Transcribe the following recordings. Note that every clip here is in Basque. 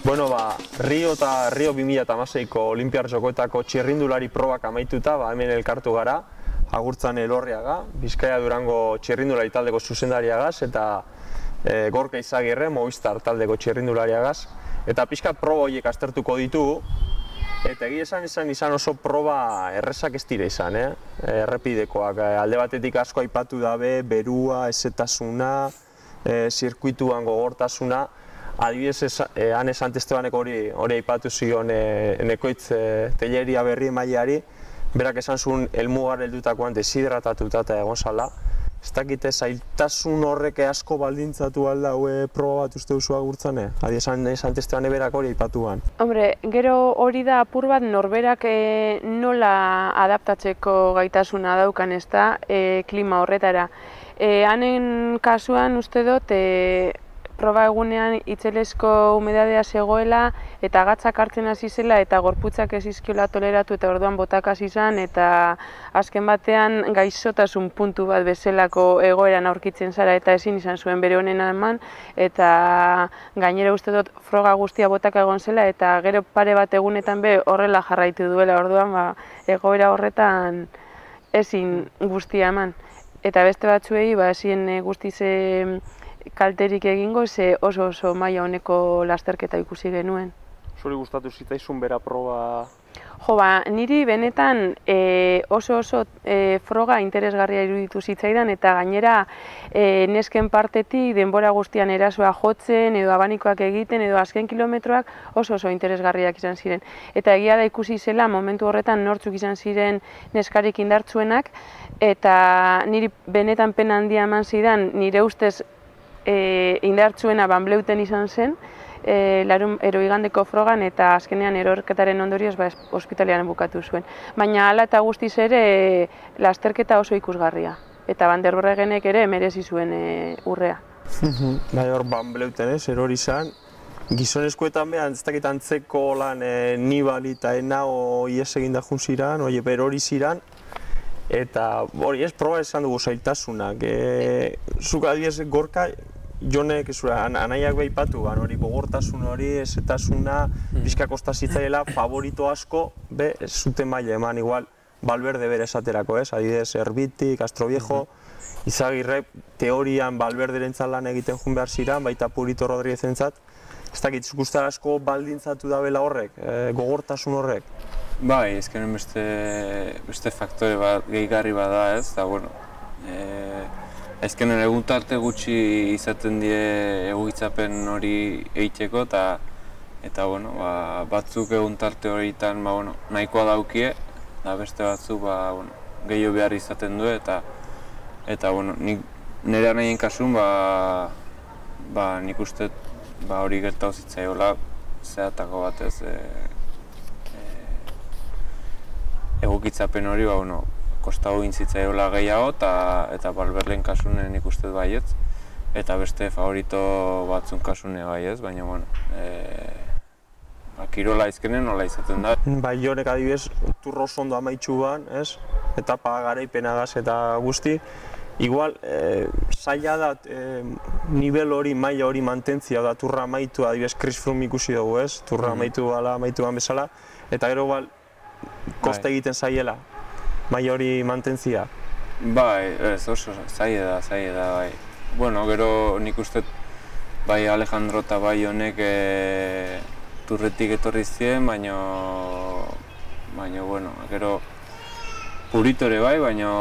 Bueno, Rio eta Rio 2016ko Olinpiar Jokoetako txirrindulari probak amaituta, hemen elkartu gara, Agurtzan Elorriaga, Bizkaia Durango txirrindulari taldeko zuzendariagaz, eta Gorka Izagirre, Movistar taldeko txirrindulariagaz, eta pixkat proba horiek aztertuko ditugu, eta egia izan oso proba errezak ez dira izan, errepidekoak. Alde batetik asko aipatu dabe, berua, ezetasuna, zirkuituan gogortasuna. Adibidez, Anes Antestebanek hori aipatu zion Nekoitz Telleria berri emaileari, berak esan zuen helmugar heldutakoan deshidratatuta eta egon zala. Ez dakite, zailtasun horrek asko baldintzatu alda proba bat uste duzu Agurtzane? Anes Antestebane berak hori aipatuan. Hombre, gero hori da apur bat norberak nola adaptatzeko gaitasuna daukan, ez da, klima horretara. Hanen kasuan uste dut, proba egunean itzelesko humedadea zegoela eta gatzak hartzen hasi zela eta gorputzak ez izkiola toleratu eta orduan botak hasi izan eta azken batean gaixotasun puntu bat bezalako egoeran aurkitzen zara eta ezin izan zuen bere honena eman eta gainera uste dut froga guztia botak egon zela eta gero pare bat egunetan be horrela jarraitu duela orduan egoera horretan ezin guztia eman. Eta beste batzuei ezin guztize kalterik egingo, ze oso maila honeko lasterketa ikusi genuen. Zuri gustatu zitzaizun bera proba? Jo, niri benetan oso froga interesgarria iruditu zitzaidan eta gainera nesken partetik denbora guztian erasoa jotzen edo abanikoak egiten edo azken kilometroak oso interesgarriak izan ziren. Eta egia da ikusi zela momentu horretan nortzuk izan ziren neskarik indartsuenak eta niri benetan pena handia eman zidan nire ustez indartsuena Banbleuten izan zen, igandeko frogan eta azkenean erorketaren ondorioz ospitalean bukatu zuen. Baina hala eta guztiz ere lasterketa oso ikusgarria. Eta Van der Breggenek ere merezi zuen urrea. Bai, hor Banbleuten erori izan. Gizonezkoetan behan, ez dakit antzeko lan Nibali eta Henao ies eginda jun ziran, erori ziran. Eta hori proba esan dugu zailtasunak. Zuk adibidez Gorka, Jonek anaiak behipatu, hori gogortasun hori, ezetasuna, pixka kosta zitzaiela, favorito asko, ez zuten maila eman, igual, Valverde bere esaterako, adibidez Erbitik, Castroviejo, Izagirre, teorian Valverderen lan egiten jun behar ziren, baita Purito Rodríguezentzat. Ez dakit, zukustara asko baldintzatu da bela horrek, gogortasun horrek? Bai, ezkenen beste faktore bat, gehigarri bat da ez, eta bueno, ezkenen egun tarte gutxi izaten die egokitzapen hori egiteko eta bueno, batzuk egun tarte horietan nahikoa daukie, eta beste batzuk gehiago behar izaten du eta bueno, nire nahien kasun nik uste hori gertatu zitzaiola zehatako batez egokitzapen hori kostago gintzitzaiolaa gehiago eta Valverden kasunen ikusten baietz eta beste favorito batzun kasune baietz, baina kirola izkenen nola izaten da. Bai, Jonek adibidez, turro oso ondo amaitxu ban, etapa garaipenagaz eta guzti. Igual, zaila da nivel hori, maila hori mantentzia da turra amaitu, adibidez Chris Froome ikusi dugu, turra amaitu ban bezala, eta gero kosta egiten zaiela, maila hori mantentzia. Bai, ez oso zaila da, bai. Bueno, gero nik uste bai Alejandro eta bai honek turretik etorri ziren, baina bueno, gero Puritore bai, baina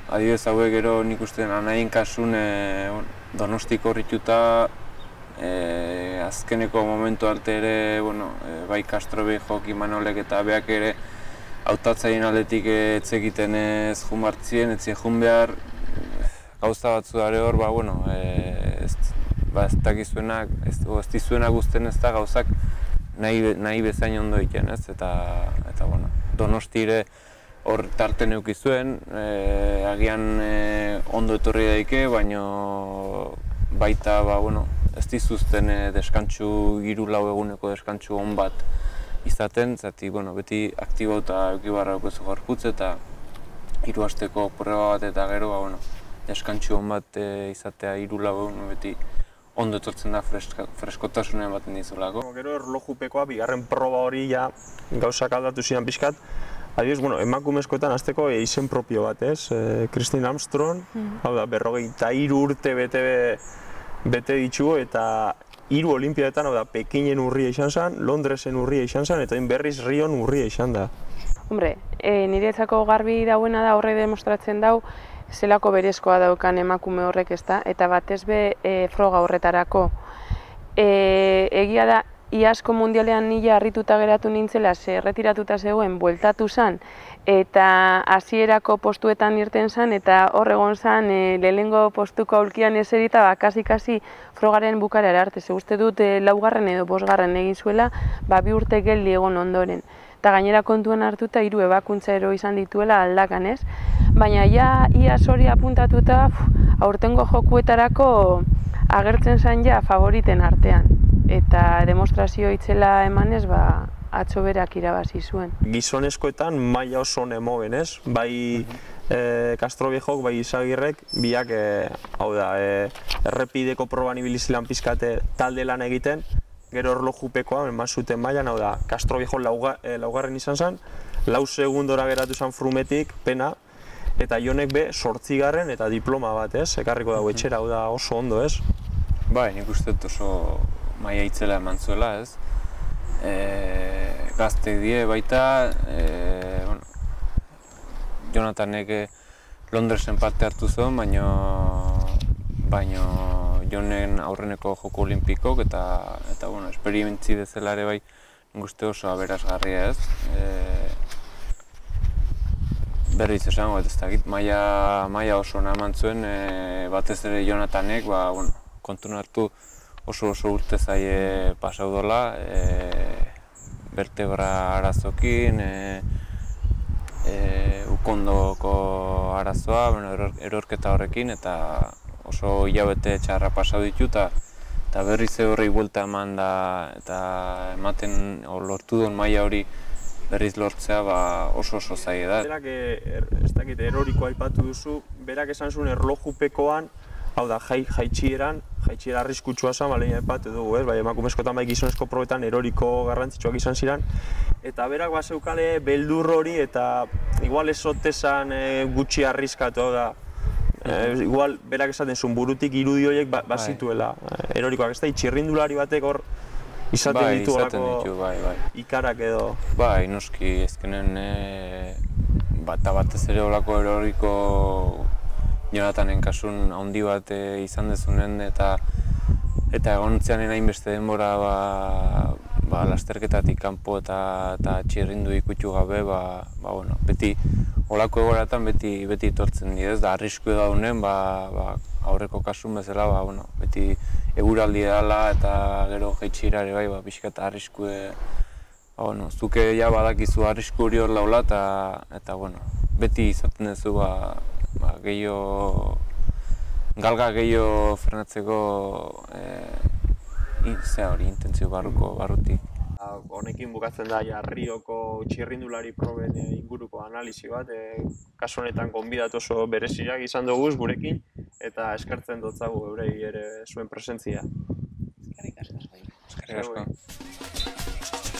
adibidez hauek gero nik uste anaien kasun Donostiko horrituta azkeneko momentu arte ere, bai Castroviejo, Imanolek eta beak ere hautatzaien aldetik etzekiten ez jun bartzien, etzien jun behar gauza batzu dare hor, ez dakizuenak, ez dizuenak guztien ez da gauzak nahi bezain ondo egiten ez, eta Donostire hor tarte neukizuen, agian ondo etorri daike, baina baita ez dizuzten deskantxu 3-4 eguneko deskantxu on bat izaten, zati beti aktibauta eukibarra daukezu gorputz eta 3 asteko proba bat eta gero deskantxu on bat izatea 3-4 egun beti ondo etortzen da freskotasunen ematen dizulako. Gero erlojupekoa, bigarren proba hori ja gauzak aldatu ziren pixkat. Adibidez, emakumezkoetan hasteko izen propio bat, ez? Christine Armstrong, hau da, 43 urte bete ditugu eta 3 olimpiadetan, hau da, Pekinen urria izan zen, Londresen urria izan zen, eta berriz Rion urria izan da. Hombre, niretzako garbi dauena da horre demostratzen dau, zelako berezkoa daukan emakume horrek, ezta, eta batez be froga horretarako. Egia da, iazko mundialean nila harrituta geratu nintzela, ze erretiratuta zegoen, bueltatu zen, eta hasierako postuetan irten zen, eta hor egon zen lehenengo postuko aulkian eserita, kasi frogaren bukaera arte. Ze uste dut 4. edo 5. egin zuela, 2 urte geldi egon ondoren. Eta gainera kontuan hartuta 3 ebakuntza ero izan dituela aldakan, ez? Baina ja iaz hori apuntatuta aurtengo jokuetarako agertzen zen ja favoriten artean. Eta demostrazio itzela emanez, atzo berak irabazi zuen. Gizonezkoetan maila oso nemogen, ez? Bai Castroviejok, bai Izagirrek, biak, hau da, errepideko proban ibili zilan pizkate talde lan egiten, gero erlojupekoa, eman zuten mailan, hau da, Castroviejok laugarren izan zen, 4 segundora geratu zen Frumetik, pena, eta Jonek be 8. eta diploma bat, ez? Ekarriko dago etxera, hau da, oso ondo, ez? Bai, nik uste dut oso maila itzela eman zuela, ez? Gazte die baita, Jonathanek Londresen parte hartu zuen, baina Jonen aurreneko joko olimpikok eta esperimentzi dezela ere bai nik uste oso aberasgarria, ez? Berriz esango, ez dakit, maila oso ona eman zuen, batez ere Jonathanek, kontun hartu oso urte zaie pasau dola, vertebra arazokin, ukondoko arazoa, erorketa horrekin, eta oso hilabete txarra pasau ditu, eta berriz horrei buelta eman da, eta ematen lortu duen maila hori berriz lortzea oso zaie da. Berak, ez dakit, eroriko aipatu duzu, berak esan zuen erlojupekoan, hau da, jaitxiera arriskutsua zen, baleina aipatu dugu, ez? Bai, emakumezkoetan bai gizonezko probetan eroriko garrantzitsuak izan ziren. Eta berak bazeukale beldur hori eta igual ez otezan gutxi arriskatu, hau da. Igual berak esaten zuen burutik irudi horiek bazituela erorikoak, ez da, txirrindulari batek hor izaten ditu ikarak edo. Bai, noski, ezkenen batez ere olako eroriko Jonathanen kasun handi bat izan dezunen eta egontzeanen hainbeste denbora lasterketatik kanpo eta txirrindu ikutu gabe, beti olako egoratan beti etortzen dira, ez da arrisku daunen, aurreko kasun bezala, beti eguraldi edala eta gero jaitxira ere bai, pixkat arrisku, zuke ja badakizu arrisku hori hor laula eta beti izaten duzu galga gehiago frenatzeko intentzio barrutik. Honekin bukatzen da Rioko txirrindulari proben inguruko analisi bat, kasu honetan gonbidatu oso bereziak izan dugu gurekin eta eskertzen dotzagu eurei ere zuen presentzia. Eskerrik asko.